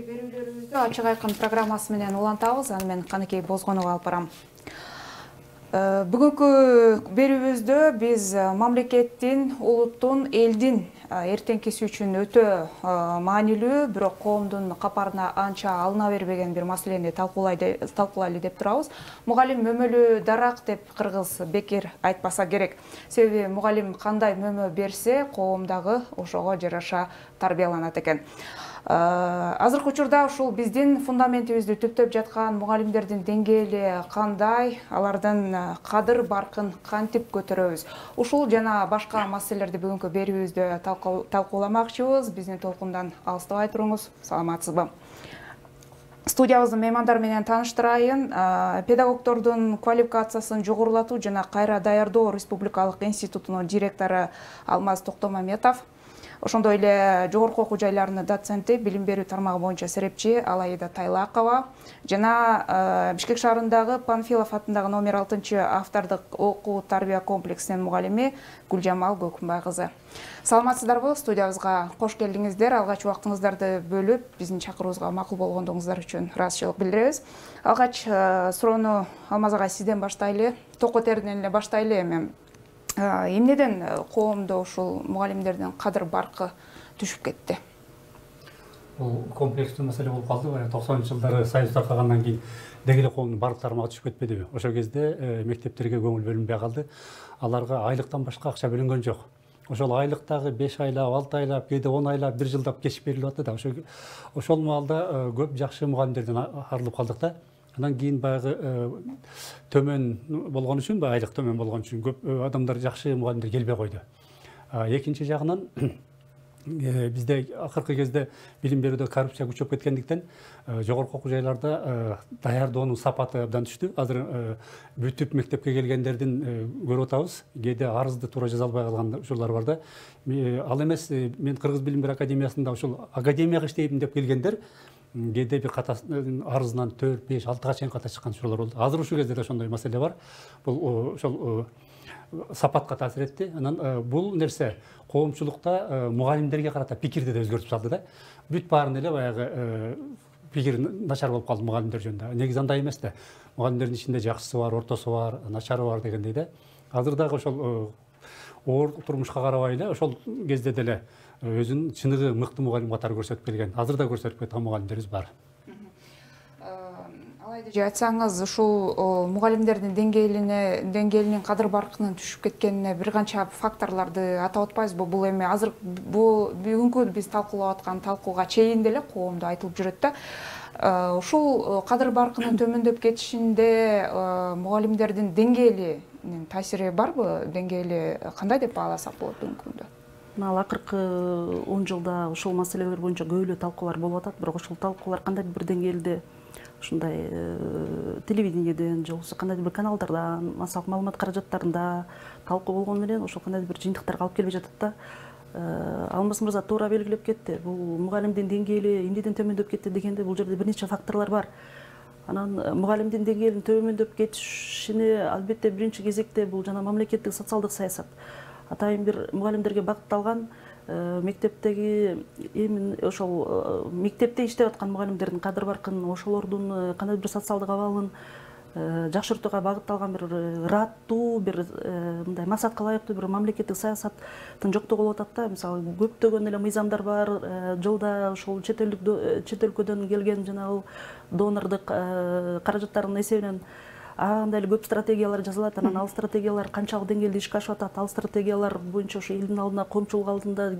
берүүлөрүбүздү ачык айкын программасы менен улантабыз. Аны мен Каныкей Бозгонова алып барам. Бүгүнкү берүүбүздө биз мамлекеттин, улуттун, элдин эртеңкиси үчүн өтө маанилүү, бирок коомдун капарына анча алына бербеген бир маселени талкуулайлы деп турабыз. Мугалим мөмөлүү дарак деп кыргыз бекер айтпаса керек. Себеби мугалим кандай мөмө берсе, коом дагы ошого жараша тарбияланат экен. Азыркы учурда ушул биздин фундаментибизди түптөп жаткан мугалимдердин деңгээли кандай, алардын кадыр баркын кантип көтөрөбүз? Ушул жана башка маселелерди бүгүнкү берүүбүздө талкууламакчыбыз. Биздин толкундан алыстабай туруңуз. Саламатсызбы? Студиябыздын меймандары менен тааныштырайын. Педагогдордун квалификациясын жогорулатуу жана кайра даярдоо Республикалык институтунун директору Алмаз Токтомаметов. Ошондой эле жогорку окуу жайларынын доценти, билим берүү тармагы боюнча серепчи Алаида Тайлакова жана Бишкек шаарындагы Панфилов атындагы номер 6 автордук окуу тарбия комплексинин мугалими Гүлжамал Көкүнбай кызы. Саламатсыздарбы? Студиябызга кош келдиңиздер. Алгач убактыңыздарды бөлүп, биздин чакыруубузга макул болгондугуңуздар үчүн ыраазычылык билдиребиз. Алгач суроону Алмаз агай сизден баштайлы. Токотерден эле баштайлы эми. Эмнеден коомдо ушул мугалимдердин кадыр баркы түшүп кетти? Бул комплекстүү маселе болуп калды. 90-жылдары Союз таркагандан кийин деги эле коомдун бардык тармагы түшүп кетпедиби? Ошол кезде мектептерге көңүл бөлүнбөй калды. Аларга айлыктан башка акча бөлүнгөн жок. Ошол айлыктагы 5 айлап, 6 айлап, кээде 10 айлап, 1 жылдап кечип берилип атты да. Ошол маалда көп жакшы мугалимдерден арылып калдык да. Андан кийин баягы төмөн болгон үчүн, айлык төмөн болгон үчүн көп адамдар жакшы мугалимдер келбей койду. Экинчи жагынан бизде акыркы кезде билим берүүдө коррупция күчөп кеткендиктен жогорку окуу жайларда даярдоонун сапаты абдан түштү. Азыр бүтүп мектепке келгендердин көрүп атабыз. Кээде арызды туура жаза албай калган учурлар бар да. Ал эмес, мен Кыргыз билим берүү академиясында ушул академияга иштейм деп келгендер кээде бир арызынан 4, 5, 6 чейин ката чыккан учурлар болду. Азыр ушул кезде да ошондой маселе бар. Бул ошол сапатка таасир этти. Анан бул нерсе коомчулукта мугалимдерге карата пикирди да өзгөртүп салды да. Бүт баарын эле баягы пикир начар болуп калды мугалимдер жөнүндө. Негизи андай эмес да. Мугалимдердин ичинде жакшысы бар, ортосу бар, начары бар дегендей да. Азыр дагы ошол оор турмушка карабай эле ошол кезде деле өзүнүн чыныгы мыкты мугалим катары көрсөтүп келген. Азыр да көрсөтүп кеткен мугалимдерибиз бар. Алайда айтсаңыз, ушул мугалимдердин деңгээлинин кадыр баркынын түшүп кеткенине бир канча факторлорду атап атпайбызбы? Бул эми азыр бүгүнкү биз талкуулап аткан талкууга чейин деле коомдо айтылып жүрөт да. Ушул кадыр баркынын төмөндөп кетишинде мугалимдердин деңгээлинин таасири барбы? Деңгээли кандай деп бааласак болот бүгүнкү күндө? Ал акыркы 10 жылда ушул маселелер боюнча көп эле талкуулар болуп атат, бирок ушул талкуулар кандайдыр бир деңгээлде ушундай телевидениеден же болбосо кандайдыр бир каналдардан, массалык маалымат каражаттарында талкуу болгону менен ошол кандайдыр бир жыйынтыктарга алып келбей жатат да. Алмаз мырза туура белгилеп кетти. Бул мугалимдин деңгээли эмнеден төмөндөп кетти дегенде, бул жерде бир нече факторлор бар. Анан мугалимдин деңгээлинин төмөндөп кетишине албетте биринчи кезекте бул жана мамлекеттик социалдык саясат. Атайын бир мугалимдерге багытталган мектептеги ошол мектепте иштеп аткан мугалимдердин кадыр баркын, ошолордун кандайдыр бир социалдык абалын жакшыртууга багытталган бир ыраттуу, бир мындай максатка ылайыктуу бир мамлекеттик саясаттын жоктугу болуп атат да. Мисалы, көптөгөн эле мыйзамдар бар. Жылда ошол чет өлкөдөн келген жанагы донордук каражаттардын эсебинен андай эле көп стратегиялар жазылат. Анан ал стратегиялар канчалык деңгээлде ишке ашып атат, ал стратегиялар боюнча ошо элдин алдына, коомчулук алдында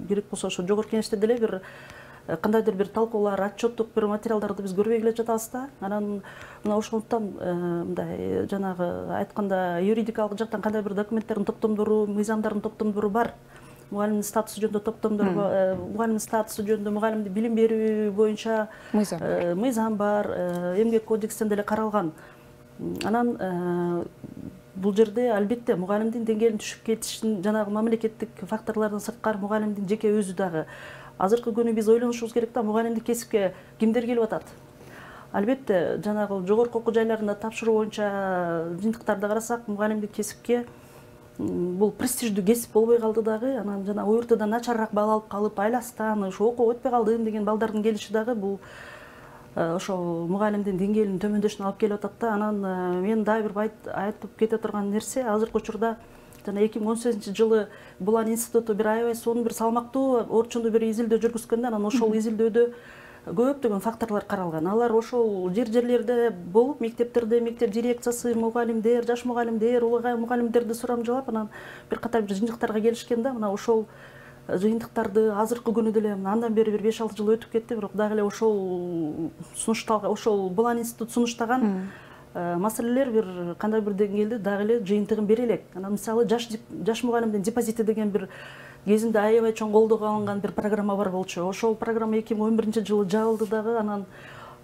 керек болсо ошо жогорку кеңеште деле бир кандайдыр бир талкуулар, отчеттук бир материалдарды биз көрбөй келе жатабыз да. Анан мына ошондуктан мындай жанагы айтканда юридикалык жактан кандай бир документтердин топтомдору, мыйзамдардын топтомдору бар. Мугалимдин статусу жөнүндө топтомдор, мугалимдин статусу жөнүндө, мугалимди билим берүү боюнча мыйзам бар, эмгек кодексинде деле каралган. Анан бул жерде албетте мугалимдин деңгээлинин түшүп кетишин жанагы мамлекеттик факторлордон сырткары мугалимдин жеке өзү дагы. Азыркы күнү биз ойлонушубуз керек да, мугалимдик кесипке кимдер келип атат? Албетте жанагы жогорку окуу жайларында тапшыруу боюнча жыйынтыктарды карасак, мугалимдик кесипке бул престиждүү кесип болбой калды дагы. Анан жана ОРТдан начарыраак бал алып калып, айластан ошо окууга өтпөй калдым деген балдардын келиши дагы бул ошол мугалимдин деңгээлинин төмөндөшүнө алып келип атат да. Анан мен дагы бир айтып кете турган нерсе, азыркы учурда жана 2018-жылы Булан институту бир аябай сонун бир салмактуу орчундуу бир изилдөө жүргүзгөндө, анан ошол изилдөөдө көптөгөн факторлор каралган. Алар ошол жерлерде болуп, мектептерде, мектеп дирекциясы, мугалимдер, жаш мугалимдер, улуу мугалимдерди сурамжылап, анан бир катар бир жыйынтыктарга келишкен да. Мына ошол жыйынтыктарды азыркы күнү деле андан бери бир 5-6 жыл өтүп кетти, бирок дагы эле ошол сунушталган, ошол Булан институту сунуштаган маселелер бир кандай бир деңгээлде дагы эле жыйынтыгын бере элек. Анан мисалы жаш мугалимдин депозити деген бир кезинде аябай чоң колдоого алынган бир программа бар болчу. Ошол программа 2011-жылы жабылды дагы. Анан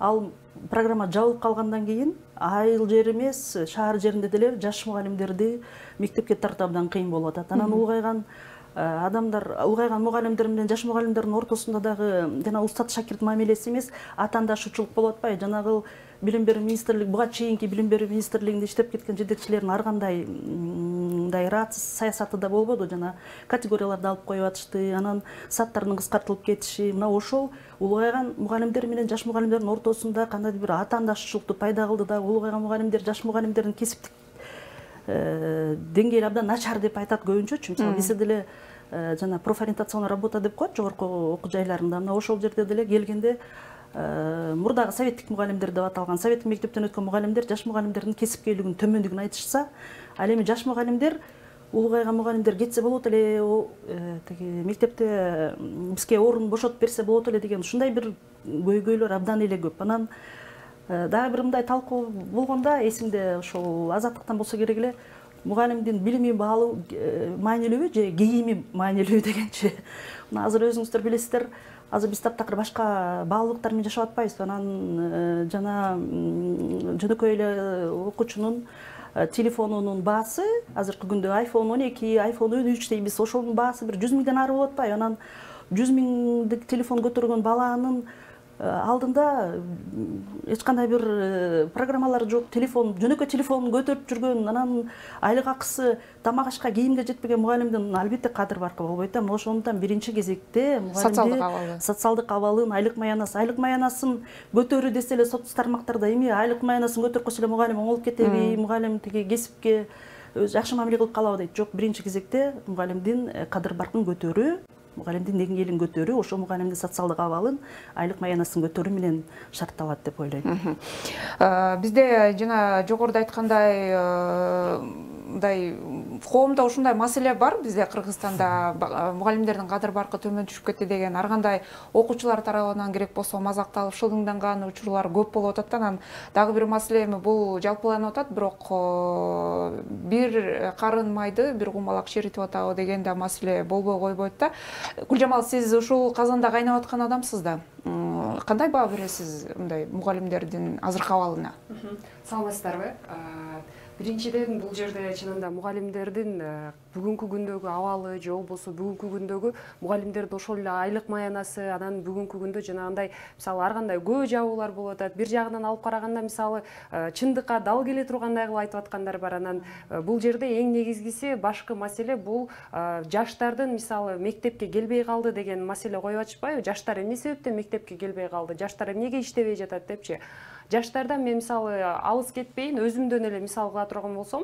ал программа жабылып калгандан кийин айыл жер эмес, шаар жеринде деле жаш мугалимдерди мектепке тартуу абдан кыйын болуп атат. Анан улгайган мугалимдер менен жаш мугалимдердин ортосунда дагы жана устат шакирт мамилеси эмес, атаандашуучулук болуп атпайбы? Жанагы билим берүү министрлиги, буга чейинки билим берүү министрлигинде иштеп кеткен жетекчилердин ар кандай мындай раатсыз саясаты да болбоду. Жана категорияларды алып коюп атышты, анан сааттардын кыскартылып кетиши. Мына ошол улгайган мугалимдер менен жаш мугалимдердин ортосунда кандайдыр бир атаандашчылыкту пайда кылды да. Улгайган мугалимдер жаш мугалимдердин кесиптик деңгээли абдан начар деп айтат көбүнчөчү. Мисалы бизде деле жана профориентационный работа деп коет жогорку окуу жайларында. Мына ошол жерде деле келгенде мурдагы советтик мугалимдер деп аталган, советтик мектептен өткөн мугалимдер жаш мугалимдердин кесипкейлигинин төмөндүгүн айтышса, ал эми жаш мугалимдер улгайган мугалимдер кетсе болот эле, тиги мектепте бизге орун бошотуп берсе болот эле деген ушундай бир көйгөйлөр абдан эле көп. Анан дагы бир мындай талкуу болгондо эсимде ошол Азаттыктан болсо керек эле мугалимдин билими баалуу маанилүүбү же кийими маанилүү дегенчи. Мына азыр өзүңүздөр билесиздер, азыр биз таптакыр башка баалуулуктар менен жашап атпайбызбы? Анан жана жөнөкөй эле окуучунун телефонунун баасы азыркы күндө iPhone 12, iPhone 13 дейбиз. Ошонун баасы бир 100 миңден ары болуп атпайбы? Анан 100 миңдик телефон көтөргөн баланын алдында эч кандай бир программалар жок, телефон, жөнөкөй телефонун көтөрүп жүргөн, анан айлык акысы тамак ашка кийимге жетпеген мугалимдин албетте кадыр баркы болбойт да. Ошондуктан биринчи кезекте мугалимдин социалдык абалын, айлык маянасын көтөрүү десе эле соц тармактарда эми айлык маянасын көтөрүп койсо эле мугалим оңолуп кетеби, мугалим тиги кесипке өзү жакшы мамиле кылып калабы дейт. Жок, биринчи кезекте мугалимдин кадыр баркын көтөрүү, мугалимдин деңгээлин көтөрүү, ошо мугалимдин социалдык абалын, айлык маянасын көтөрүү менен шартталат деп ойлойм. Бизде жана жогоруда айткандай мындай коомдо ушундай маселе бар. Бизде Кыргызстанда мугалимдердин кадыр баркы төмөн түшүп кетти деген ар кандай окуучулар тарабынан керек болсо мазакталып шылыңданган учурлар көп болуп атат. Анан дагы бир маселе эми бул жалпыланып атат, бирок бир карын майды бир кумалак ширитип атабы деген да маселе болбой койбойт да. Гүлжамал, сиз ушул казанда кайнап аткан адамсыз да. Кандай баа бересиз мындай мугалимдердин азыркы абалына? Саламатсыздарбы? Биринчиден бул жерде чынында мугалимдердин бүгүнкү күндөгү абалы же болбосо бүгүнкү күндөгү мугалимдердин ошол эле айлык маянасы, анан бүгүнкү күндө жанагындай мисалы ар кандай көбү жабуулар болуп атат. Бир жагынан алып караганда мисалы чындыкка дал келе тургандай кылып айтып аткандар бар. Анан бул жерде эң негизгиси башкы маселе бул жаштардын мисалы мектепке келбей калды деген маселе коюп атышпайбы? Жаштар эмне себептен мектепке келбей калды? Жаштар эмнеге иштебей жатат депчи? Жаштардан мен мисалы алыс кетпейин, өзүмдөн эле мисал кыла турган болсом,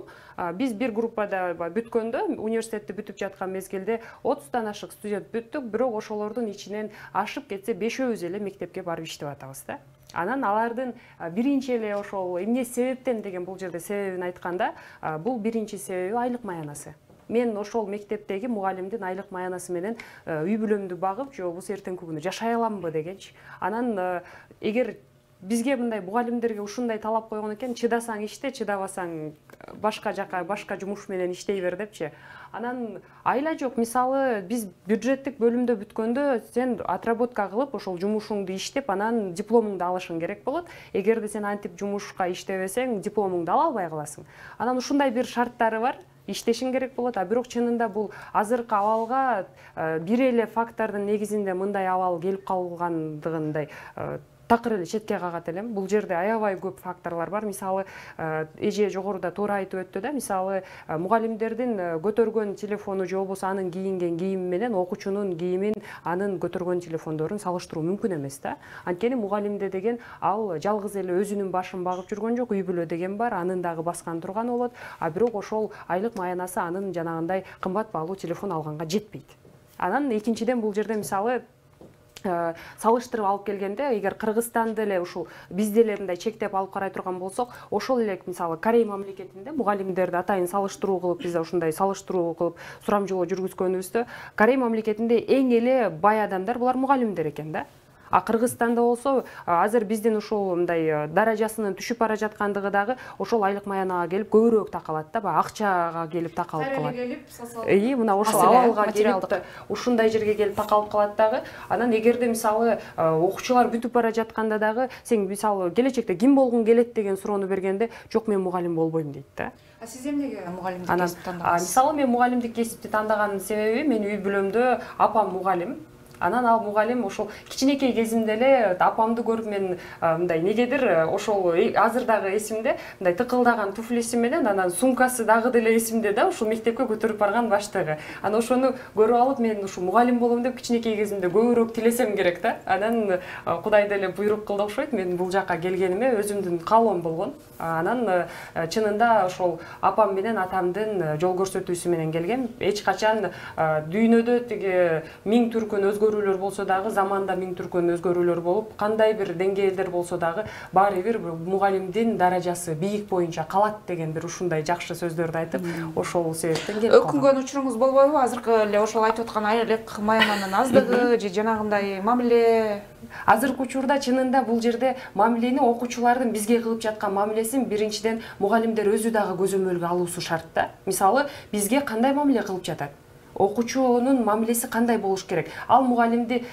биз бир группада бүткөндө, университетти бүтүп жаткан мезгилде 30-тан ашык студент бүттүк, бирок ошолордун ичинен ашып кетсе 5-өөбүз эле мектепке барып иштеп атабыз да. Анан алардын биринчи эле ошол эмне себептен деген бул жерде себебин айтканда, бул биринчи себеби айлык маянасы. Мен ошол мектептеги мугалимдин айлык маянасы менен үй бүлөмдү багып, же болбосо эртеңки күнү жашай аламбы дегенчи. Анан эгер бизге мындай мугалимдерге ушундай талап койгон экен, чыдасаң иште, чыдабасаң башка жака, башка жумуш менен иштей бер депчи. Анан айла жок, мисалы биз бюджеттик бөлүмдө бүткөндө сен отработка кылып, ошол жумушуңду иштеп, анан дипломуңду алышың керек болот. Эгерде сен антип жумушка иштебесең, дипломуңду ала албай каласың. Анан ушундай бир шарттары бар. Иштешиң керек болот, бирок чынында бул азыркы абалга бир эле фактордун негизинде мындай абал келип калгандыгындай такыр эле четке кагат элем. Бул жерде аябай көп факторлор бар. Мисалы, эже жогоруда туура айтып өттү да, мисалы, мугалимдердин көтөргөн телефону же болбосо анын кийинген кийими менен окуучунун кийимин, анын көтөргөн телефондорун салыштыруу мүмкүн эмес да. Анткени мугалимде деген ал жалгыз эле өзүнүн башын багып жүргөн жок, үй бүлө деген бар, анын дагы баскан турганы болот. А бирок ошол айлык маянасы анын жанагындай кымбат баалуу телефон алганга жетпейт. Анан экинчиден бул жерде мисалы салыштырып алып келгенде, эгер Кыргызстанды эле ушул бизде эле мындай чектеп алып карай турган болсок, ошол эле мисалы Корей мамлекетинде мугалимдерди атайын салыштыруу кылып, бизде ушундай салыштыруу кылып сурамжылоо жүргүзгөнүбүздө, Корей мамлекетинде эң эле бай адамдар булар мугалимдер экен да. А Кыргызстанда болсо азыр биздин ушул мындай даражасынын түшүп бара жаткандыгы дагы ошол айлык маянага келип көбүрөөк такалат да, баягы акчага келип такалып калат. Мына ошол абалга келип ушундай жерге келип такалып калат дагы. Анан эгерде мисалы окуучулар бүтүп бара жатканда дагы сен мисалы келечекте ким болгуң келет деген суроону бергенде, жок мен мугалим болбойм дейт да. А сиз эмнеге мугалимдик кесипти тандадыңыз? Мисалы мен мугалимдик кесипти тандаганымдын себеби, менин үй бүлөмдө апам мугалим. Анан ал мугалим ошол кичинекей кезимде эле апамды көрүп мен мындай негедир ошол азыр дагы эсимде, мындай тыкылдаган туфлиси менен анан сумкасы дагы деле эсимде да, ушул мектепке көтөрүп барган баштыгы. Анан ошону көрүп алып мен ушул мугалим болом деп кичинекей кезимде көбүрөөк тилесем керек да. Анан Кудай деле буйрук кылды окшойт, мен бул жака келгениме өзүмдүн каалоом болгон. Анан чынында ошол апам менен атамдын жол көрсөтүүсү менен келгем. Эч качан дүйнөдө тиги миң түркүн өзгөрүүлөр болсо дагы, заманда миң түркүн өзгөрүүлөр болуп, кандай бир деңгээлдер болсо дагы баары бир мугалимдин даражасы бийик боюнча калат деген бир ушундай жакшы сөздөрдү айтып, ошол себептен келип калгам. Өкүнгөн учуруңуз болбойбу? Азыркы эле ошол айтып аткан айлык маянанын аздыгы же жанагындай мамиле? Азыркы учурда чынында бул жерде мамилени окуучулардын бизге кылып жаткан мамилесин биринчиден мугалимдер өзү дагы көзөмөлгө алуусу шарт да. Мисалы, бизге кандай мамиле кылып жатат? Окуучунун мамилеси кандай болуш керек? Ал мугалимди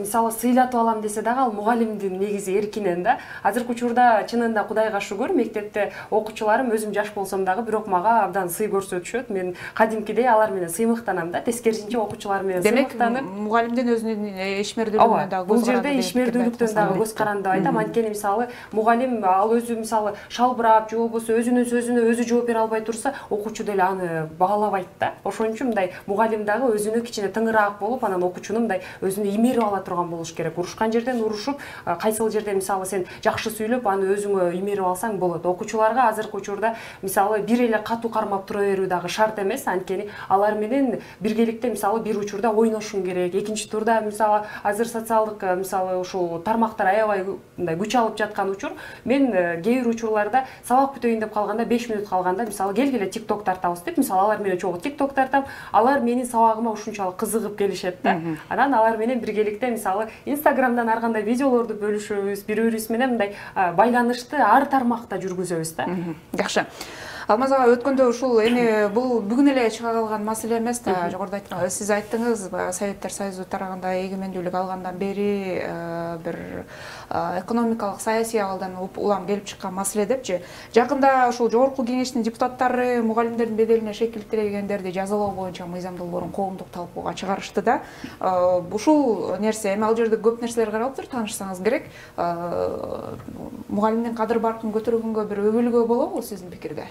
мисалы сыйлатып алам десе дагы ал мугалимдин негизи эркинен да. Азыркы учурда чынында Кудайга шүгүр, мектепте окуучуларым өзүм жаш болсом дагы бирок мага абдан сый көрсөтүшөт. Мен кадимкидей алар менен сыймыктанам да, тескерисинче окуучулар менен сыймыктанып. Демек, мугалимдин өзүнүн ишмердүүлүгүнө дагы бул жерде ишмердүүлүктөн дагы көз каранды деп айтам. Анткени мисалы мугалим ал өзү мисалы шалбырап же болбосо өзүнүн сөзүнө өзү жооп бере албай турса, окуучу деле аны баалабайт да. Ошон үчүн мындай мугалим дагы өзүнө кичине тыңыраак болуп, анан окуучуну мындай өзүнө имерип ала турган болуш керек. Урушкан жерден урушуп, кайсыл жерде мисалы сен жакшы сүйлөп, аны өзүңө имерип алсаң болот. Окуучуларга азыркы учурда мисалы бир эле катуу кармап тура берүү дагы шарт эмес. Анткени алар менен биргеликте мисалы бир учурда ойношуң керек. Экинчи турда мисалы азыр социалдык мисалы ушул тармактар аябай мындай күч алып жаткан учур. Мен кээ бир учурларда сабак бүтөйүн деп калганда 5 мүнөт калганда мисалы келгиле TikTok тартабыз деп, мисалы алар менен чогуу TikTok тартам, алар менин сабагыма ушунчалык кызыгып келишет да. Анан алар менен биргеликте мисалы Instagramдан ар кандай видеолорду бөлүшөбүз, бири-бирибиз менен мындай байланышты ар тармакта жүргүзөбүз да. Жакшы. Алмаз ага, өткөндө ушул эми бул бүгүн эле чыга калган маселе эмес да. Жогоруда айткан, сиз айттыңыз, Советтер Союзу тарагында эгемендүүлүк алгандан бери бир экономикалык саясий абалдан улам келип чыккан маселе депчи. Жакында ушул Жогорку Кеңештин депутаттары мугалимдердин беделине шекилтилгендерди жазалоо боюнча мыйзам долбоорун коомдук талкууга чыгарышты да. Ушул нерсе эми ал жерде көп нерселер каралыптыр, таанышсаңыз керек. Мугалимдин кадыр баркын көтөргөнгө бир өбөлгө болобу сиздин пикирде?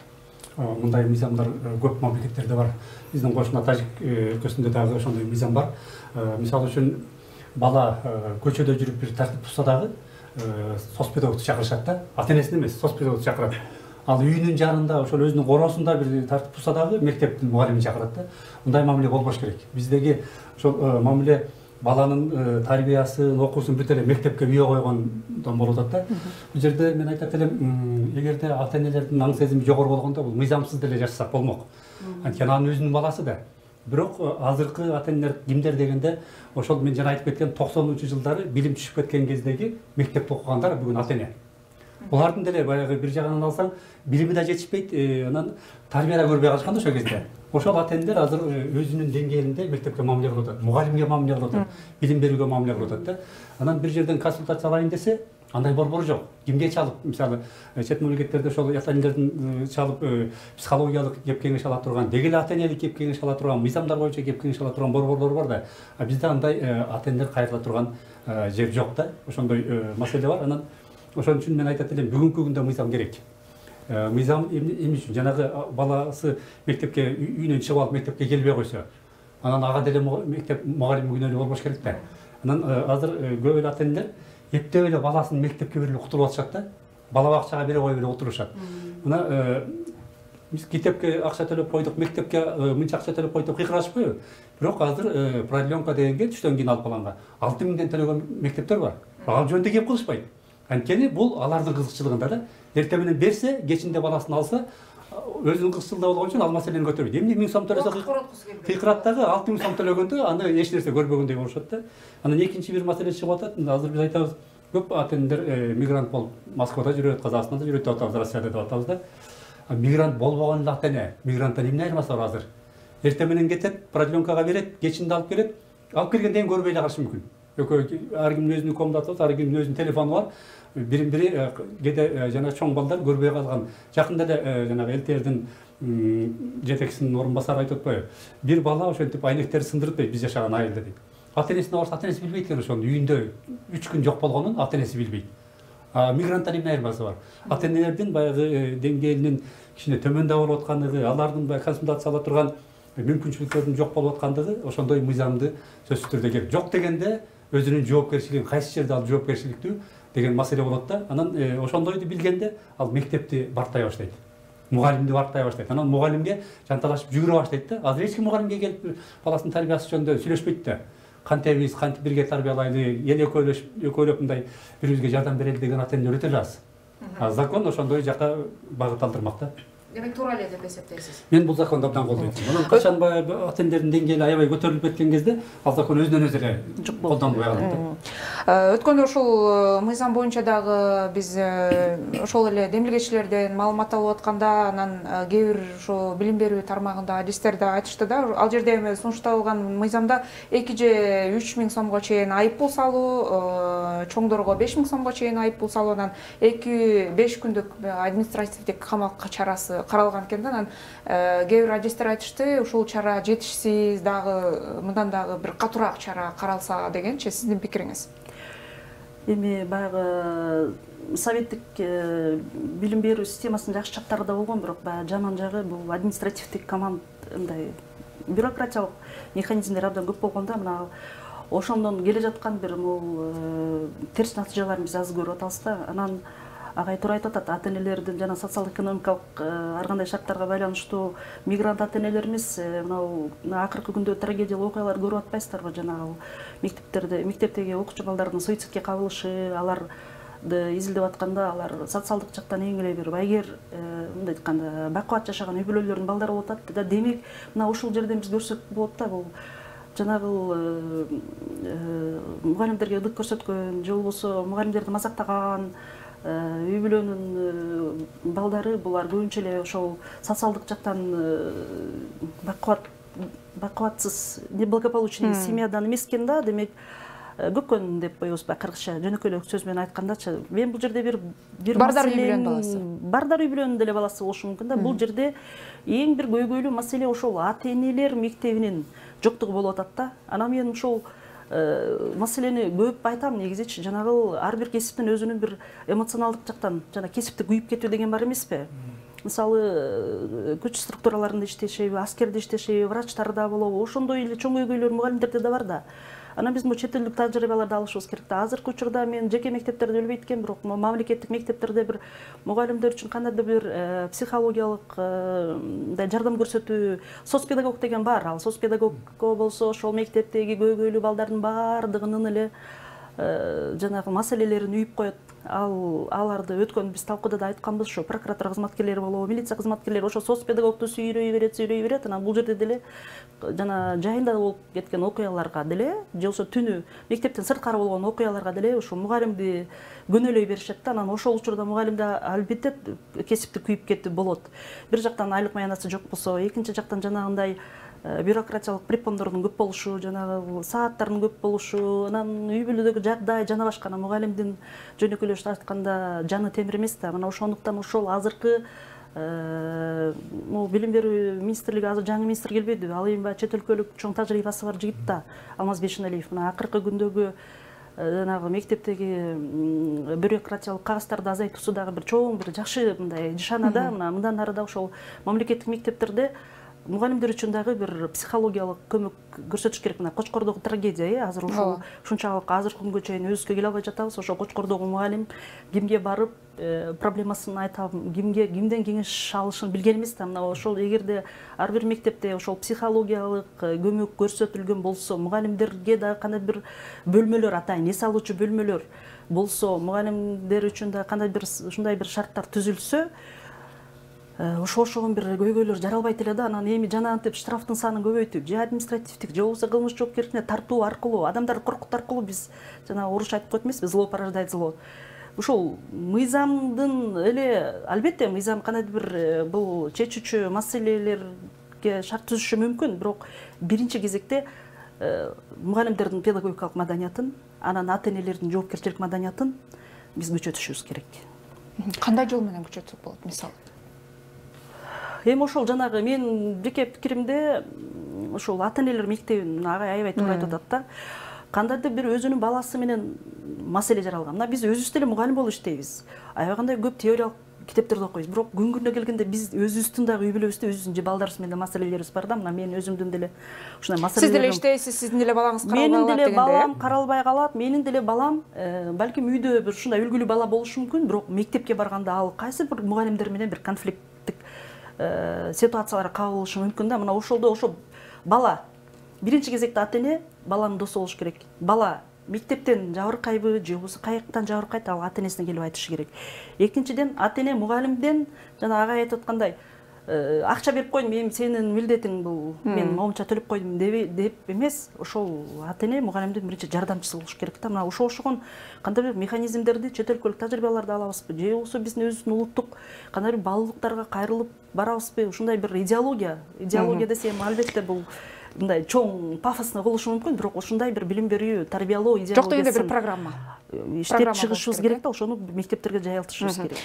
Мындай мыйзамдар көп мамлекеттерде бар. Биздин кошуна Тажик өлкөсүндө дагы ошондой мыйзам бар. Мисалы үчүн бала көчөдө жүрүп бир тартип бузса дагы соцпедагогду чакырышат да. Ата-энесин эмес, соцпедагогду чакырат. Ал үйүнүн жанында ошол өзүнүн короосунда бир тартип бузса дагы мектептин мугалимин чакырат да. Мындай мамиле болбош керек. Биздеги ошол мамиле баланын тарбиясын, окуусун бүт эле мектепке үйө койгондон болуп атат да. Бул жерде мен айтат элем, эгерде ата-энелердин аң сезими жогору болгондо бул мыйзамсыз деле жашасак болмок. Анткени анын өзүнүн баласы да. Бирок азыркы ата-энелер кимдер дегенде, ошол мен жана айтып кеткен 90-жылдары билим түшүп кеткен кездеги мектепте окугандар бүгүн ата-эне. Булардын деле баягы бир жагынан алсаң, билими да жетишпейт, анан тарбия да көрбөй калышкан да ошол кезде. Ошол ата-энелер азыр өзүнүн деңгээлинде мектепке мамиле кылып атат, мугалимге мамиле кылып атат, билим берүүгө мамиле кылып атат да. Анан бир жерден консультация алайын десе, андай борбор жок. Кимге чалып, мисалы, чет мамлекеттерде ошол ата-энелердин чалып психологиялык кеп кеңеш ала турган, дегеле ата-энелик кеп кеңеш ала турган, мыйзамдар боюнча кеп кеңеш ала турган борборлор бар да. А бизде андай ата-энелер кайрыла турган жер жок да. Ошондой маселе бар. Анан ошон үчүн мен айтат элем, бүгүнкү күндө мыйзам керек. Мыйзам эмне үчүн? Жанагы баласы мектепке үйүнөн чыгып алып мектепке келбей койсо, анан ага деле мектеп мугалим күнөөлүү болбош керек да. Анан азыр көп эле ата-энелер эптеп эле баласын мектепке берип утуруп атышат да. Бала бакчага бере коюп эле отурушат. Мына биз китепке акча төлөп койдук, мектепке мынча акча төлөп койдук деп кыйкырашпайбы? Бирок азыр продленка дегенге түштөн кийин алып баланга 6000 төлөгөн мектептер бар. Ал жөнүндө кеп кылышпайт. Анткени бул алардын кызыкчылыгында да. Эртең менен берсе, кечинде баласын алса, өзүнүн кызыкчылыгы болгон үчүн ал маселени көтөрбөйт. Эмне 1000 сом төлөсө кыйкырат дагы 6000 сом төлөгөндө аны эч нерсе көрбөгөндөй болушат да. Анан экинчи бир маселе чыгып атат. Азыр биз айтабыз, көп ата-энелер мигрант болуп Москвада жүрөт, Казакстанда жүрөт деп атабыз, Россияда деп атабыз да. Мигрант болбогон эле ата-эне, мигранттан эмне айырмасы бар азыр? Эртең менен кетет, продленкага берет, кечинде алып келет. Алып келгенден кийин көрбөй эле калышы мүмкүн. Экөө ар кимдин өзүнүн комнатасы, ар кимдин өзүнүн телефону бар. Бири кээде жана чоң балдар көрбөй калган. Жакында эле жанагы ЛТРдин жетекчисинин орун басары айтып атпайбы? Бир бала ошентип айнектерди сындырып дейт, биз жашаган айылда дейт. Ата-энесине барса, ата-энеси билбейт экен ошону, үйүндө 3 күн жок болгонун ата-энеси билбейт. Мигранттан эмне айырмасы бар? Ата-энелердин баягы деңгээлинин кичине төмөндө болуп аткандыгы, алардын баягы консультация ала турган мүмкүнчүлүктөрүнүн жок болуп аткандыгы ошондой мыйзамды сөзсүз түрдө керек. Жок дегенде өзүнүн жоопкерчилигин кайсы жерде ал жоопкерчиликтүү деген маселе болот да. Анан ошондойду билгенде ал мектепти барктай баштайт. Мугалимди барктай баштайт. Анан мугалимге жанталашып жүгүрө баштайт да. Азыр эч ким мугалимге келип баласынын тарбиясы жөнүндө сүйлөшпөйт да. Кантебиз, кантип бирге тарбиялайлы, эл экөөлөп мындай бирибизге жардам берели деген ата-энелер өтө аз. Закон ошондой жака багыт алдырмак да. Демек туура эле деп эсептейсиз. Мен бул законду абдан колдойм. Анан качан баягы ата-энелердин деңгээли аябай көтөрүлүп кеткен кезде ал закон өзүнөн өзү эле колдонулбай калат да. Өткөндө ушул мыйзам боюнча дагы биз ошол эле демилгечилерден маалымат алып атканда, анан кээ бир ошо билим берүү тармагында адистер да айтышты да, ал жерде эми сунушталган мыйзамда 2 же 3000 сомго чейин айыппул салуу, чоңдорго 5000 сомго чейин айыппул салуу, анан 2-5 күндүк административдик камак чарасы каралган экен да. Анан кээ бир адистер айтышты, ушул чара жетишсиз, дагы мындан дагы бир катуураак чара каралса дегенчи. Сиздин пикириңиз? Эми баягы советтик билим берүү системасынын жакшы жактары да болгон, бирок баягы жаман жагы бул административдик мындай бюрократиялык механизмдер абдан көп болгон да. Мына ошондон келе жаткан бир терс натыйжаларын биз азыр көрүп атабыз да. Анан агай туура айтып атат, ата-энелердин жана социал-экономикалык ар кандай шарттарга байланыштуу мигрант ата-энелерimiz мына акыркы күндө трагедиялык окуялар көрүп атпайсыздарбы? Жанагы мектептеги окуучу балдардын суицидке кабылышы, аларды изилдеп атканда алар социалдык жактан эң эле бир байгер, мындай айтканда бакубат жашаган үй бүлөлөрдүн балдары болуп атат да. Демек мына ушул жерден биз көрсөк болот да, бул жанагы мугалимдерге ылдык көрсөткөн же болбосо мугалимдерди мазактаган үй бүлөнүн балдары, булар көбүнчө эле ошол социалдык жактан бакубатсыз, неблагополучный семьядан эмес экен да. Демек көккөн деп коебуз кыргызча жөнөкөй эле сөз менен айтканда. Мен бул жерде бир бардар үй бүлөнүн баласы, бардар үй бүлөнүн деле баласы болушу мүмкүн да. Бул жерде эң бир көйгөйлүү маселе ошол ата-энелер мектебинин жоктугу болуп атат да. Анан мен ошол маселени көп айтам негизичи. Жанагы ар бир кесиптин өзүнүн бир эмоционалдык жактан жана кесипти күйүп кетүү деген бар эмеспи? Мисалы күч структураларында иштешеби, аскерде иштешеби, врачтарда болобу, ошондой эле чоң көйгөйлөр мугалимдерде да бар да. Анан биз бул чет элдик тажрыйбаларды алышыбыз керек да. Азыркы учурда мен жеке мектептерди билбейт экенмин, бирок мамлекеттик мектептерде бир мугалимдер үчүн кандайдыр бир психологиялык жардам көрсөтүү, соцпедагог деген бар. Ал соцпедагогго болсо ошол мектептеги көйгөйлүү балдардын баардыгынын эле жанагы маселелерин үйүп коет. Аларды өткөн биз талкууда да айтканбыз, ошо прокуратура кызматкерлери болобу, милиция кызматкерлери ошо соцпедагогду сүйрөй берет. Анан бул жерде деле жана жайында болуп кеткен окуяларга деле, же болбосо түнү мектептен сырткары болгон окуяларга деле ошо мугалимди көнөлөй беришет да. Анан ошол учурда мугалимде албетте кесипти күйүп кетүү болот. Бир жактан айлык маянасы жок болсо, экинчи жактан жанагындай бюрократиялык препондордун көп болушу, жанагы сааттардын көп болушу, анан үй бүлөдөгү жагдай жана башка. Мугалимдин жөнөкөйлөшүп айтканда жаны темир эмес да. Мына ошондуктан ошол азыркы билим берүү министрлиги азыр жаңы министр келбедиби? Ал эми баягы чет өлкөлүк чоң тажрыйбасы бар жигит да, Алмаз Бейшеналиев. Мына акыркы күндөгү жанагы мектептеги бюрократиялык кагаздарды азайтуусу дагы бир чоң бир жакшы мындай нишана да. Мындан ары да ошол мамлекеттик мектептерде мугалимдер үчүн дагы бир психологиялык көмөк көрсөтүш керек. Мына Кочкордогу трагедия, азыр ушул ушунчалык азыркы күнгө чейин өзүбүзгө келе албай жатабыз. Ошо Кочкордогу мугалим кимге барып проблемасын айта, кимден кеңеш алышын билген эмес да. Мына ошол эгерде ар бир мектепте ошол психологиялык көмөк көрсөтүлгөн болсо, мугалимдерге дагы кандайдыр бир бөлмөлөр, атайын эс алуучу бөлмөлөр болсо, мугалимдер үчүн да кандайдыр бир ушундай бир шарттар түзүлсө, ошогон бир көйгөйлөр жаралбайт эле да. Анан эми жана антип штрафтын санын көбөйтүп, же административдик, же болбосо кылмыш жоопкерчиликине тартуу аркылуу, адамдарды коркутуу аркылуу биз жана оруч айтып коет эмеспи, зло порождает зло. Ушул мыйзамдын эле, албетте мыйзам кандайдыр бир бул чечүүчү маселелерге шарт түзүшү мүмкүн, бирок биринчи кезекте мугалимдердин педагогикалык маданиятын, анан ата-энелердин жоопкерчилик маданиятын биз күчөтүшүбүз керек. Кандай жол менен күчөтсөк болот, мисалы? Эми ошол жанагы мен жеке пикиримде ошол ата-энелер мектебин агай аябай туура айтып атат да. Кандайдыр бир өзүнүн баласы менен маселе жаралган. Мына биз өзүбүз деле мугалим болуп иштейбиз. Аябагандай көп теориялык китептерди окуйбуз. Бирок күнгүнө келгенде биз өзүбүздүн дагы үй бүлөбүздө өзүбүздүн же балдарыбыз менен маселелерибиз бар да. Мына мен өзүмдүн деле ушундай маселелер. Сиз деле иштейсиз, сиздин деле балаңыз каралбай калат Менин дегенде. деле балам каралбай калат, менин деле балам балким үйдө бир ушундай үлгүлүү бала болушу мүмкүн, бирок мектепке барганда ал кайсы бир мугалимдер менен бир конфликттик ситуацияларга кабылышы мүмкүн да. Мына ошолдо ошо бала биринчи кезекте ата-эне баланын досу болуш керек. Бала мектептен жабыркайбы, же болбосо каяктан жабыркайт, ал ата-энесине келип айтышы керек. Экинчиден, ата-эне мугалимден жана агай айтып аткандай акча берип койдум, эми сенин милдетиң бул, мен моунча төлөп койдум деп эмес, ошол ата-эне мугалимдин биринчи жардамчысы болуш керек да. Мына ошогон кандай бир механизмдерди, чет өлкөлүк тажрыйбаларды алабызбы, же болбосо биздин өзүбүздүн улуттук кандай бир баалуулуктарга кайрылып барабызбы, ушундай бир идеология десем албетте бул мындай чоң пафосно болушу мүмкүн, бирок ушундай бир билим берүү, тарбиялоо идеологиясын жок дегенде бир программа иштеп чыгышыбыз керек да, ошону мектептерге жайылтышыбыз керек.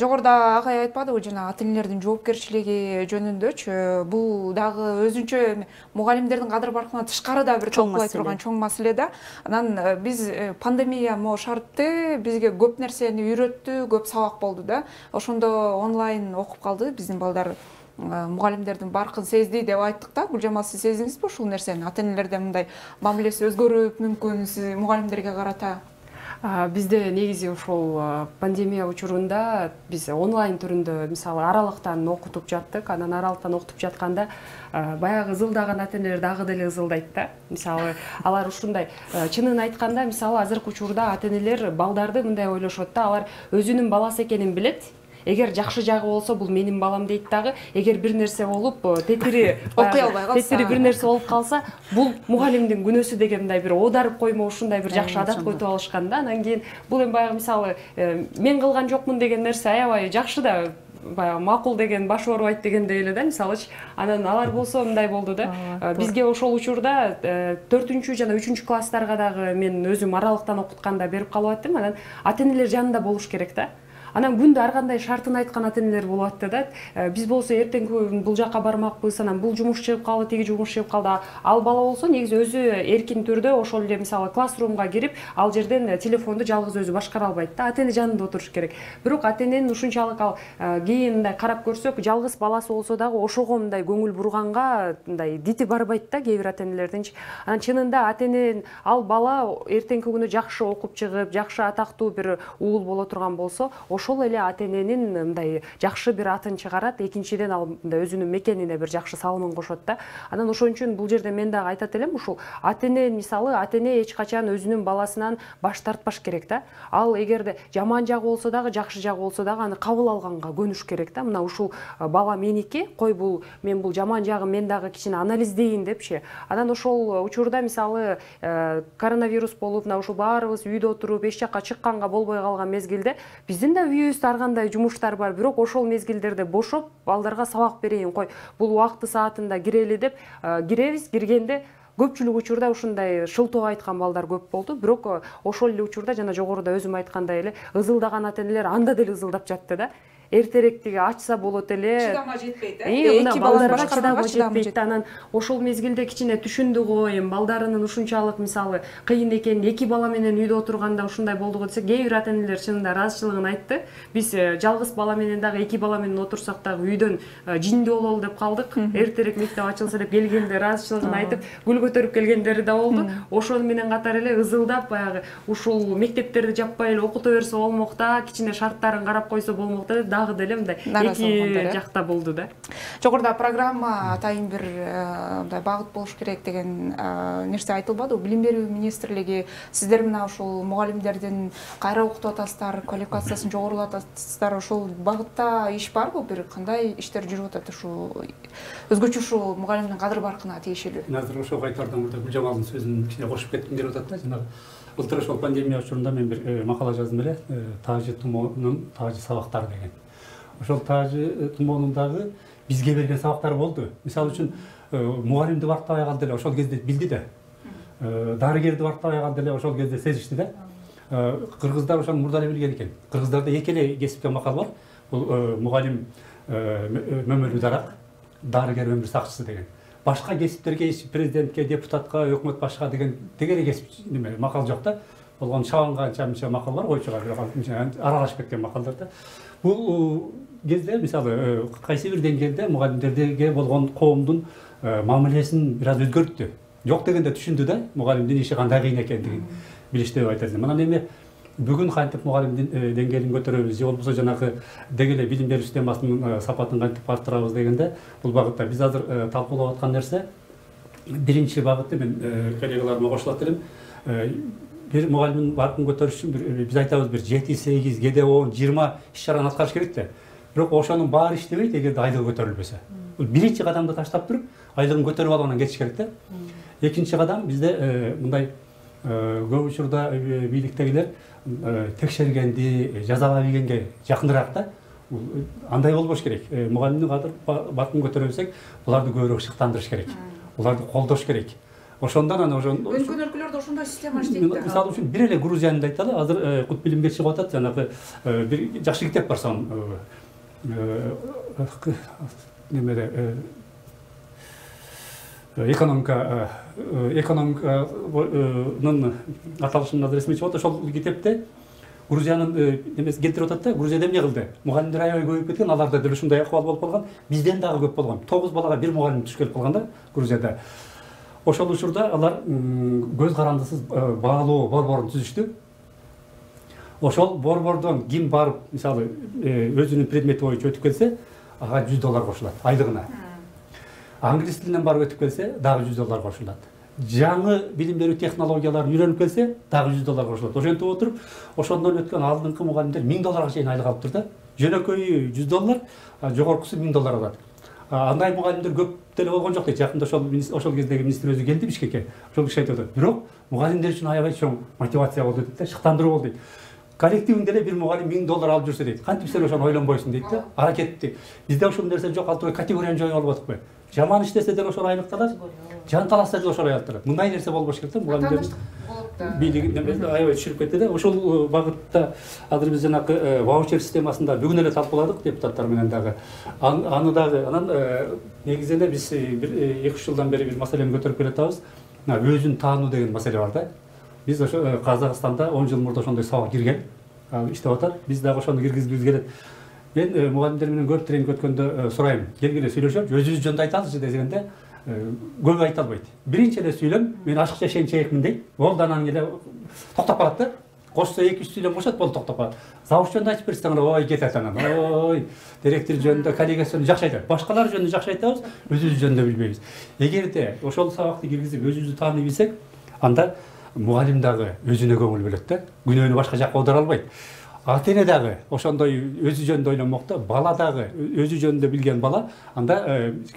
Жогоруда агай айтпадыбы, жана ата-энелердин жоопкерчилиги жөнүндөчү, бул дагы өзүнчө мугалимдердин кадыр баркынан тышкары да бир талкуулай турган чоң маселе да. Анан биз пандемия могу шартты бизге көп нерсени үйрөттү, көп сабак болду да. Ошондо онлайн окуп калды биздин балдар. Мугалимдердин баркын сезди деп айттык да. Гүлжамал, сиз сездиңизби ушул нерсени? Ата-энелерден мындай мамилеси өзгөрүп мүмкүн сиз мугалимдерге карата? Бизде негизи ушул пандемия учурунда биз онлайн түрүндө мисалы аралыктан окутуп жаттык. Анан аралыктан окутуп жатканда баягы ызылдаган ата-энелер дагы деле ызылдайт да. Мисалы алар ушундай чынын айтканда, мисалы азыркы учурда ата-энелер балдарды мындай ойлошот да, алар өзүнүн баласы экенин билет. Эгер жакшы жагы болсо бул менин балам дейт дагы. Эгер бир нерсе болуп тетири окуй албай калса, тетири бир нерсе болуп калса, бул мугалимдин күнөөсү дегендей бир оодарып коймо, ушундай бир жакшы адат койтуп алышкан да. Анан кийин бул эми баягы мисалы мен кылган жокмун деген нерсе аябай жакшы да, баягы макул деген баш оорубайт дегендей эле да, мисалычы. Анан алар болсо мындай болду да. Бизге ошол учурда 4-үчү жана 3-үчү класстарга дагы мен өзүм аралыктан окутканда берип калып аттым. Анан ата-энелер жанында болуш керек да. Анан күндө ар кандай шартын айткан ата-энелер болуп атты да. Биз болсо эртеңки күн бул жака бармакпыз, анан бул жумуш чыгып калды, тиги жумуш чыгып калды. Ал бала болсо негизи өзү эркин түрдө ошол эле мисалы классрумга кирип, ал жерден телефонду жалгыз өзү башкара албайт да. Ата-эне жанында отуруш керек. Бирок ата-эненин ушунчалык ал кийин мындай карап көрсөк, жалгыз баласы болсо дагы ошого мындай көңүл бурганга мындай дити барбайт да кээ бир ата-энелердинчи. Анан чынында ата-эне ал бала эртеңки күнү жакшы окуп чыгып, жакшы атактуу бир уул боло турган болсо, ошол эле ата-эненин мындай жакшы бир атын чыгарат. Экинчиден ал мындай өзүнүн мекенине бир жакшы салымын кошот да. Анан ошон үчүн бул жерде мен дагы айтат элем, ушул ата-эне мисалы ата-эне эч качан өзүнүн баласынан баш тартпаш керек да. Ал эгерде жаман жагы болсо дагы, жакшы жагы болсо дагы аны кабыл алганга көнүш керек да. Мына ушул бала меники, кой бул мен бул жаман жагын мен дагы кичине анализдейин депчи. Анан ошол учурда мисалы коронавирус болуп, мына ушул баарыбыз үйдө отуруп эч жакка чыкканга болбой калган мезгилде биздин да үйүбүздө ар кандай жумуштар бар, бирок ошол мезгилдерде бошоп балдарга сабак берейин, кой бул убакты саатында кирели деп киребиз. Киргенде көпчүлүк учурда ушундай шылтоо айткан балдар көп болду, бирок ошол эле учурда жана жогоруда өзүм айткандай эле ызылдаган ата энелер анда деле ызылдап жатты да. Эртерээк ачса болот эле. Чыдама жетпейт, Мына балдарга чыдама жетпейт. Анан ошол мезгилде кичине түшүндү го, эми балдарынын ушунчалык мисалы кыйын экенин, 2 бала менен үйдө отурганда ушундай болду го десе, кээ бир ата энелер чынында ыраазычылыгын айтты. Биз жалгыз бала менен дагы 2 бала менен отурсак дагы үйдөн жиндүү бололу деп калдык. Эртерээк мектеп ачылса деп келгенде ыраазычылыгын айтып, гүл көтөрүп келгендери да болду. Ошол менен катар эле ызылдап баягы ушул мектептерди жаппай эле окута берсе болмок да, кичине шарттарын карап койсо болмок да деп дагы деле мындай эки жакта болду да. Жогоруда программа атайын бир мындай багыт болуш керек деген нерсе айтылбады. Билим берүү министрлиги сиздер мына ушул мугалимдердин кайра окутуп атасыздар, квалификациясын жогорулатасыздар, ошол багытта иш барбы? Бир кандай иштер жүрүп атат ушул өзгөчө ушул мугалимдин кадыр баркына тиешелүү? Азыр ошого кайтардан мурда Гүлжамалдын сөзүн кичине кошуп кетким келип атат да. Жанагы былтыр ошол пандемия учурунда мен бир макала жаздым эле, таажы тумоонун таажы сабактары деген. Ошол таажы тумоонун дагы бизге берген сабактары болду. Мисалы үчүн мугалимди барктабай калды эле, ошол кезде билди да. Дарыгерди барктабай калды эле, ошол кезде сезишти да. Кыргыздар ошону мурда эле билген экен. Кыргыздарда эки эле кесипте макал бар. Бул мугалим мөмөлүү дарак, дарыгер өмүр сакчысы деген. Башка кесиптерге президентке, депутатка, өкмөт башка деген тегере кесип макал жок да. Болгон чабанганча макал бар, койчуга бирок аралашып кеткен макалдар да. Бул кезде мисалы кайсы бир деңгээлде мугалимдерге болгон коомдун мамилесин бир аз өзгөрттү. Жок дегенде түшүндү да, мугалимдин иши кандай кыйын экендигин билишти деп айтат элем. Мына эми бүгүн кантип мугалимдин деңгээлин көтөрөбүз, же болбосо жанагы деги эле билим берүү системасынын сапатын кантип арттырабыз дегенде бул багытта биз азыр талкуулап аткан нерсе биринчи багыты, мен коллегаларыма кошулат элем. Бир мугалимдин баркын көтөрүш үчүн биз айтабыз бир 7-8, кээде 10-20 иш-чараны аткарыш керек да. Бирок ошонун баары иштебейт эгерде айлыгы көтөрүлбөсө. Бул биринчи кадамды таштап туруп, айлыгын көтөрүп алып анан кетиш керек да. Экинчи кадам бизде мындай көп учурда бийликтегилер текшергенди жазалай билгенге жакыныраак да. Андай болбош керек. Мугалимдин баркын көтөрө билсек, буларды көбүрөөк шыктандырыш керек. Буларды колдош керек. Ошондон анан өзгөн өлкөлөрдө ошондой система иштейт да. Мисалы үчүн бир эле Грузиянды айталы, азыр кут билимге чыгып атат, жанагы бир жакшы китеп бар сон немеде экономиканын аталышын азыр эсиме чыгып атат. Ошол китепте Грузиянын немеси келтирип атат да. Грузияда эмне кылды? Мугалимдер аябай көбөйүп кеткен, аларда деле ушундай акыбал болуп калган. Бизден дагы көп болгон. 9 балага бир мугалим түшүп келип калган да Грузияда. Ошол учурда алар көз карандысыз баалоо борборун түзүштү. Ошол борбордон ким барып, мисалы, өзүнүн предмети боюнча өтүп келсе, ага $100 кошулат айлыгына. Англис тилинен барып өтүп келсе, дагы $100 кошулат. Жаңы билим берүү технологияларын үйрөнүп келсе, дагы $100 кошулат. Ошентип отуруп, ошондон өткөн алдыңкы мугалимдер $1000 чейин айлык алып турду. Жөнөкөйү $100, жогоркусу $1000 алат. Андай мугалимдер көп деле болгон жок дейт. Жакында ошол кездеги министр өзү келди Бишкекке. Ошол киши айтып атат. Бирок мугалимдер үчүн аябай чоң мотивация болду дейт да, шыктандыруу болду дейт. Коллективинде эле бир мугалим $1000 алып жүрсө дейт. Кантип сен ошону ойлонбойсуң дейт да. Аракетти. Бизде ошол нерсе жок, алтыбай категорияны жоюп алып атпайбы? Жаман иштесе деле ошол айлыкты алат. Жан талашса деле ошол айлыкты алат. Мындай нерсе болбош керек да, мугалимдер бийлигин аябай түшүрүп кетти да. Ошол багытта азыр биз жанагы ваучер системасында бүгүн эле талкууладык депутаттар менен дагы. Аны дагы анан негизи эле биз бир 2-3 жылдан бери бир маселени көтөрүп келатабыз. Өзүн таануу деген маселе бар да. Биз ошо Казакстанда 10 жыл мурда ошондой сабак кирген, иштеп атат. Биз дагы ошону киргизгибиз келет. Мен мугалимдер менен көп тренинг өткөндө сурайм, келгиле сүйлөшөбү, өзүбүз жөнүндө айталычы дегенде көп айта албайт. Биринчи эле сүйлөм, мен ашыкча шен-чейекмин дейт. Болду анан эле токтоп калат да. Кошсо 2-3 сүйлөм кошот, болду токтоп калат. Завуч жөнүндө айтып берсең, ой кетет анан. Ой, директор жөнүндө, коллегасы жөнүндө жакшы айтат. Башкалар жөнүндө жакшы айтабыз, өзүбүз жөнүндө билбейбиз. Эгерде ошол сабакты киргизип өзүбүздү тааный билсек, анда мугалим дагы өзүнө көңүл бөлөт да. Күнөөнү башка жакка оодара албайт. Ата эне дагы ошондой өзү жөнүндө ойлонмокто, бала дагы өзү жөнүндө билген бала, анда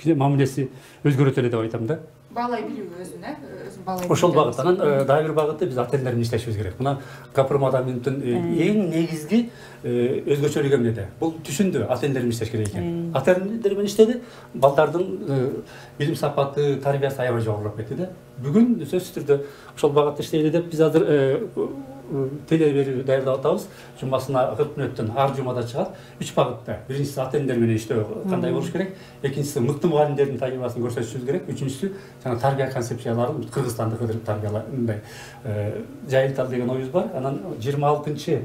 мамилеси өзгөрөт эле деп айтам да. баалай билүү өзүн, өзүн баалай. Ошол багыт. Анан дагы бир багыты биз ата энелер менен иштешибиз керек. Мына Капырмадаминдин эң негизги өзгөчөлүгү эмнеде? Бул түшүндү ата энелер менен иштеш керек экен. Ата энелер менен иштеди, балдардын билим сапаты, тарбиясы аябай жогорулап кетти да. Бүгүн сөзсүз түрдө ошол багытта иштейли деп биз азыр теле берүү даярдап атабыз. Жумасына 40 мүнөттөн ар жумада чыгат. 3 багытта. Биринчиси ата энелер менен иштөө кандай болуш керек? Экинчиси мыкты мугалимдердин тажрыйбасын көрсөтүшүбүз керек. Үчүнчүсү жана тарбия концепцияларын Кыргызстанды кыдырып тарбиялай мындай жайылталы деген оюбуз бар. Анан 26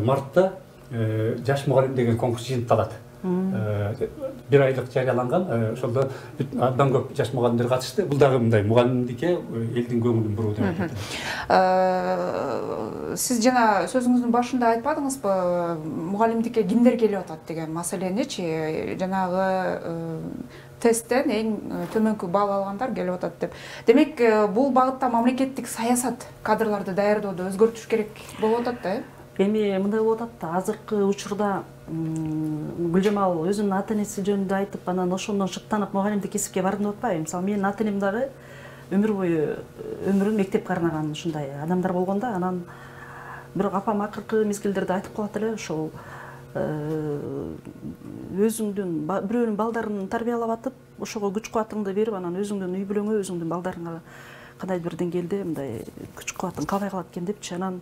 мартта жаш мугалим деген конкурс жыйынтыкталат. Бир айлык жарыяланган, ошолдо абдан көп жаш мугалимдер катышты. Бул дагы мындай мугалимдикке элдин көңүлүн буруу деп атат. Сиз жана сөзүңүздүн башында айтпадыңызбы, мугалимдикке кимдер келип атат деген маселеничи? Жанагы тесттен эң төмөнкү балл алгандар келип атат деп. Демек, бул багытта мамлекеттик саясат кадрларды даярдоодо өзгөртүш керек болуп атат да? Эми мындай болуп атат да, азыркы учурда Гүлжамал өзүнүн ата энеси жөнүндө айтып, анан ошондон шыктанып мугалимдик кесипке бардым деп атпайбы? Мисалы, менин ата энем дагы өмүр бою өмүрүн мектепке арнаган ушундай адамдар болгон да. Анан бирок апам акыркы мезгилдерде айтып калат эле, ошол өзүңдүн бирөөнүн балдарын тарбиялап атып, ошого күч кубатыңды берип, анан өзүңдүн үй бүлөңө, өзүңдүн балдарыңа кандайдыр бир деңгээлде мындай күч кубатын кабай калат экен депчи. Анан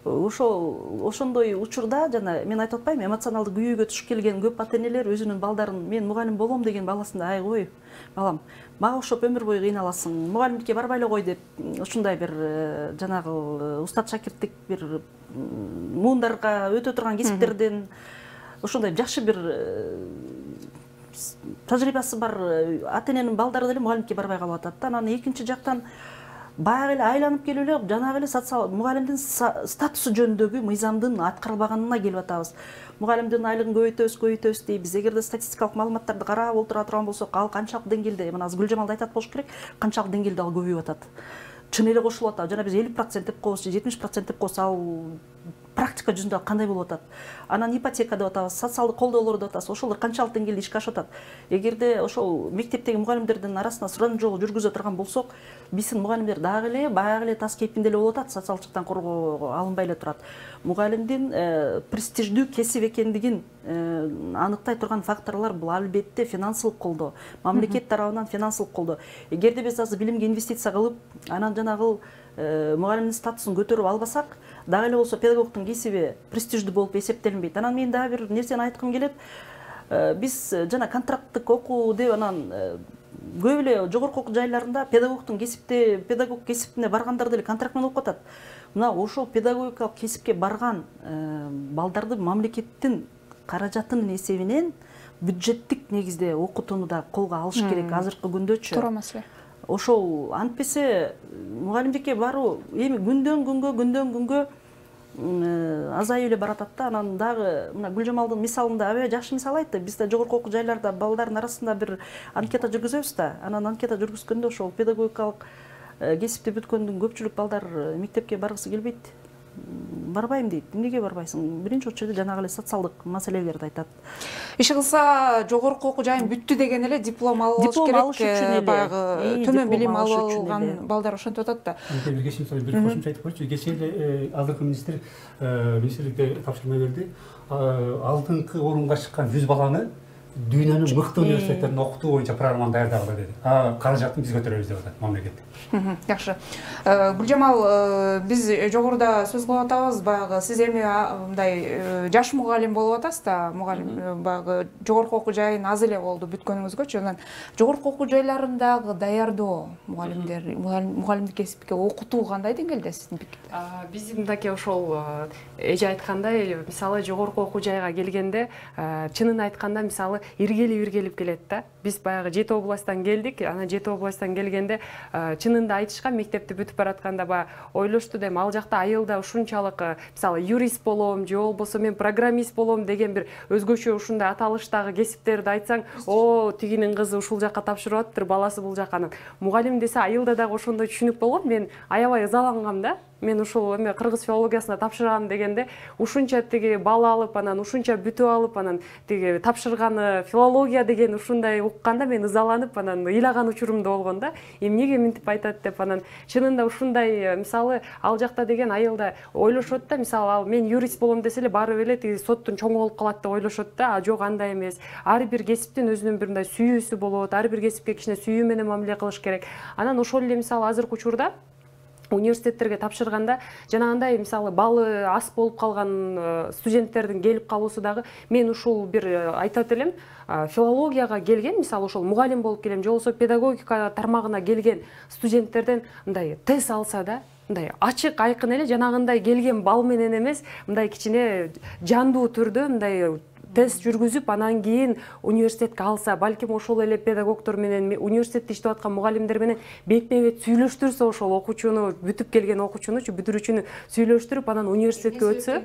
ошондой учурда жана мен айтып атпаймынбы, эмоционалдык күйөөгө түшүп келген көп ата энелер өзүнүн балдарын мен мугалим болом деген баласында ай кой балам, мага окшоп өмүр бою кыйналасың, мугалимдикке барбай эле кой деп ушундай бир жанагы устат шакирттик бир муундарга өтө турган кесиптерден ошондой жакшы бир тажрыйбасы бар ата эненин балдары деле мугалимдикке барбай калып атат да. Анан экинчи жактан баягы эле айланып келип эле жанагы эле социал мугалимдин статусу жөнүндөгү мыйзамдын аткарылбаганына келип атабыз. Мугалимдин айлыгын көбөйтөбүз дейбиз. Эгерде статистикалык маалыматтарды карап отура турган болсок, ал канчалык деңгээлде, мына азыр Гүлжамал да айтат болуш керек, канчалык деңгээлде ал көбөйүп атат. Чын эле кошулуп атат. Жана биз 50% деп коебуз, 70% деп коебуз, ал практика жүзүндө кандай болуп атат? Анан ипотека деп атабыз, социалдык колдоолор деп атабыз. Ошолор канчалык деңгээлде ишке ашып атат? Эгерде ошол мектептеги мугалимдердин арасында суран жол жүргүзө турган болсок, биздин мугалимдер дагы эле баягы эле тас кейпинде эле болуп атат, социалдык жактан коргоого алынбай эле турат. Мугалимдин престиждүү кесип экендигин аныктай турган факторлор бул албетте финансылык колдоо, мамлекет тарабынан финансылык колдоо. Эгерде биз азыр билимге инвестиция кылып, анан жанагы мугалимдин статусун көтөрүп албасак, дагы эле болсо педагогдун кесиби престиждүү болуп эсептелинбейт. Анан мен дагы бир нерсени айткым келет. Биз жана контракттык окуу деп анан көп эле жогорку окуу жайларында педагог кесибине баргандар деле контракт менен окуп атат. Мына ошол педагогикалык кесипке барган балдарды мамлекеттин каражатынын эсебинен бюджеттик негизде окутууну да колго алыш керек азыркы күндөчү. Туура маселе. Ошол антпесе мугалимдикке баруу эми күндөн күнгө азайып эле баратат да. Анан дагы мына Гүлжамалдын мисалында аябай жакшы мисал айтты. Биз да жогорку окуу жайларда балдардын арасында бир анкета жүргүзөбүз да. Анан анкета жүргүзгөндө ошол педагогикалык кесипти бүткөндүн көпчүлүк балдар мектепке баргысы келбейт. Барбайм дейт. Эмнеге барбайсың? Биринчи очередде жанагы эле социалдык маселелерди айтат. Иши кылса жогорку окуу жайын бүттү деген эле диплом алыш керек. Баягы төмөн билим алып алган балдар ошентип атат да. Бир кошумча айтып койчу. Кечээ эле азыркы министрликте тапшырма берди. Алдыңкы орунга чыккан 100 баланы дүйнөнүн мыкты университеттеринде окутуу боюнча программаны даярдагыла деди. Каражатын биз көтөрөбүз деп атат мамлекет. Жакшы. Гүлжамал, биз жогоруда сөз кылып атабыз, баягы сиз эми мындай жаш мугалим болуп атасыз да, мугалим баягы жогорку окуу жайын аз эле болду бүткөнүңүзгөчү. Анан жогорку окуу жайларындагы даярдоо мугалимдик кесипке окутуу кандай деңгээлде сиздин пикирде? Биз мындаки ошол эже айткандай, мисалы жогорку окуу жайга келгенде, чынын айтканда мисалы иргелип келет да. Биз баягы Жети областтан келдик, анан Жети областтан келгенде чынында айтышкан мектепти бүтүп баратканда баягы ойлошту дем, ал жакта айылда ушунчалык мисалы юрист болом же болбосо мен программист болом деген бир өзгөчө ушундай аталыштагы кесиптерди айтсаң, о, тигинин кызы ушул жакка тапшырып атыптыр, баласы бул жакка. Мугалим десе айылда дагы ошондой түшүнүк болгон. Мен аябай ызалангам да. мен ушул эме кыргыз филологиясына тапшырган дегенде ушунча тиги балл алып, анан ушунча бүтүп алып, анан тиги тапшырганы филология деген ушундай укканда мен ызаланып, анан ыйлаган учурум да болгон да. Эмнеге мынтип айтат деп, анан чынында ушундай, мисалы ал жакта деген айыл да ойлошот да, мисалы ал мен юрист болом десе эле барып эле тиги соттун чоңу болуп калат деп ойлошот да. А жок, андай эмес. Ар бир кесиптин өзүнүн бир мындай сүйүүсү болот, ар бир кесипке кичине сүйүү менен мамиле кылыш керек. Анан ошол эле мисалы азыркы учурда университеттерге тапшырганда жанагындай мисалы баллы аз болуп калган студенттердин келип калуусу дагы, мен ушул бир айтат элем, филологияга келген, мисалы ошол мугалим болуп келем, же болбосо педагогика тармагына келген студенттерден мындай тест алса да, мындай ачык айкын эле жанагындай келген балл менен эмес, мындай кичине жандуу түрдө мындай тест жүргүзүп, анан кийин университетке алса, балким ошол эле педагогдор менен, университетте иштеп аткан мугалимдер менен бетме-бет сүйлөштүрсө, ошол окуучуну, бүтүп келген окуучунучу, бүтүрүүчүнү сүйлөштүрүп, анан университетке өтсө,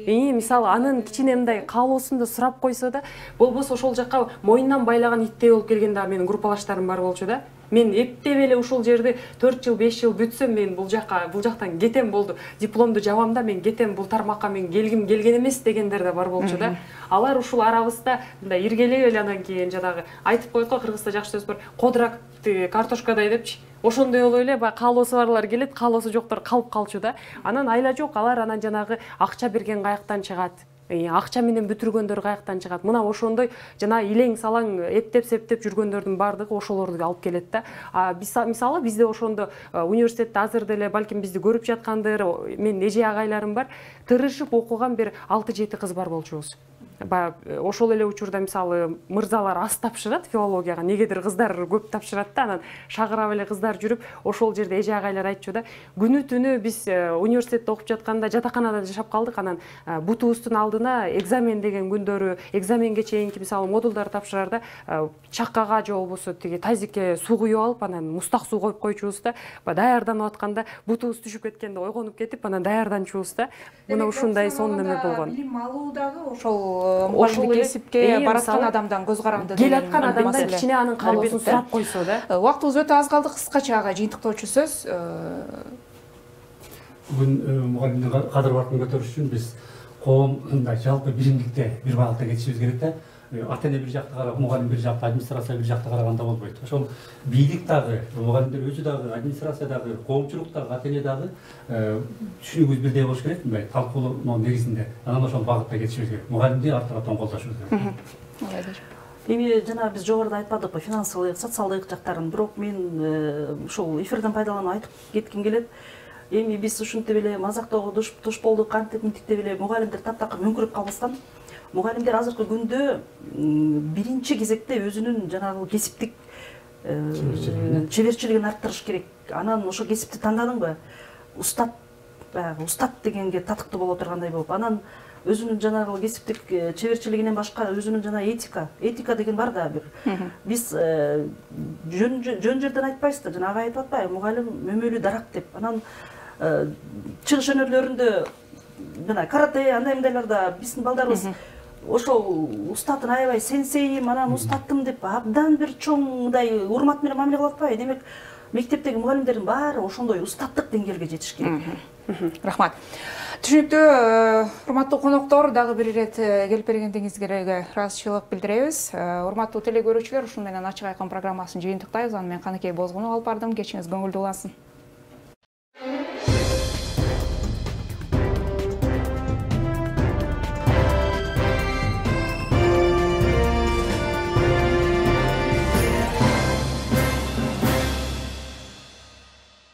мисалы анын кичине мындай каалоосун да сурап койсо да, болбосо ошол жакка моюндан байлаган иттей болуп келген да менин группалаштарым бар болчу да. Мен эптеп эле ушул жерди 4 жыл 5 жыл бүтсөм, мен бул жактан кетем болду. Дипломду жабам да, мен кетем, бул тармакка мен келгим келген эмес дегендер да бар болчу да. Алар ушул арабызда мындай иргелеп эле анан кийин жанагы айтып коет го, кыргызда жакшы сөз бар, кодурак картошкадай депчи. Ошондой болуп эле баягы каалоосу барлар келет, каалоосу жоктор калып калчу да. Анан айла жок, алар анан жанагы акча берген каяктан чыгат. Акча менен бүтүргөндөр каяктан чыгат. Мына ошондой жана илең салаң эптеп септеп жүргөндөрдүн баардыгы ошолорду алып келет да. Мисалы бизде ошондо университетте азыр деле балким бизди көрүп жаткандыр, менин эже агайларым бар, тырышып окуган бир 6-7 кыз бар болчубуз. Ошол эле учурда мисалы мырзалар аз тапшырат филологияга, негедир кыздар көп тапшырат да, анан шагырап эле кыздар жүрүп, ошол жерде эже агайлар айтчу да, күнү түнү биз университетте окуп жатканда жатаканада жашап калдык, анан бутубуздун алдына экзамен деген күндөрү, экзаменге чейинки мисалы модулдар тапшырарда чаккага же болбосо тиги тазикке суу куюп алып, анан мустак суу коюп койчубуз да, даярданып атканда бутубуз түшүп кеткенде ойгонуп кетип, анан даярданчубуз да. Мына ушундай сонун неме болгон. Билим алуу дагы ошол кесипке бараткан адамдан көз каранды кел аткан адамдан кичине анын каалоосун сурап койсо да. Убактыбыз өтө аз калды, кыскача ага жыйынтыктоочу сөз. Бүгүн мугалимдин кадыр баркын көтөрүш үчүн биз коом мындай жалпы биримдикте бир багытта кетишибиз керек да. Ата эне бир жакта карап, мугалим бир жакта, администрация бир жакта караганда болбойт. Ошол бийлик дагы, мугалимдер өзү дагы, администрация дагы, коомчулук дагы, ата эне дагы түшүнүгүбүз бирдей болуш керек, мындай талкуулоо негизинде. Анан ошол багытта кетишибиз керек. Мугалимди артыраптан колдошубуз керек. Эми жана биз жогоруда айтпадыкпы, финансылык, социалдык жактарын, бирок мен ушул эфирден пайдаланып айтып кетким келет. Эми биз ушинтип эле мазактоого туш болдук, кантип мынтип эле мугалимдер таптакыр мөңкүрөп калбастан, мугалимдер азыркы күндө биринчи кезекте өзүнүн жанагы кесиптик чеберчилигин арттырыш керек. Анан ошо кесипти тандадыңбы, устат, баягы устат дегенге татыктуу боло тургандай болуп, анан өзүнүн жанагы кесиптик чеберчилигинен башка өзүнүн жана этика деген бар да бир. Биз жөн жерден айтпайбыз да, жана ага айтып атпайбы, мугалим мөмөлүү дарак деп. Анан чыгыш өнөрлөрүндө мына карате андай мындайларда биздин балдарыбыз ошол устатын аябай сенсейим, анан устаттым деп абдан бир чоң мындай урмат менен мамиле кылып атпайбы. Демек мектептеги мугалимдердин баары ошондой устаттык деңгээлге жетиш керек. Рахмат. Түшүнүктүү, урматтуу коноктор, дагы бир ирет келип бергендиңизге ыраазычылык билдиребиз. Урматтуу теле көрүүчүлөр, ушуну менен ачык айкын программасын жыйынтыктайбыз. Аны мен Каныкей Бозгунов алып бардым. Кечиңиз көңүлдүү улансын.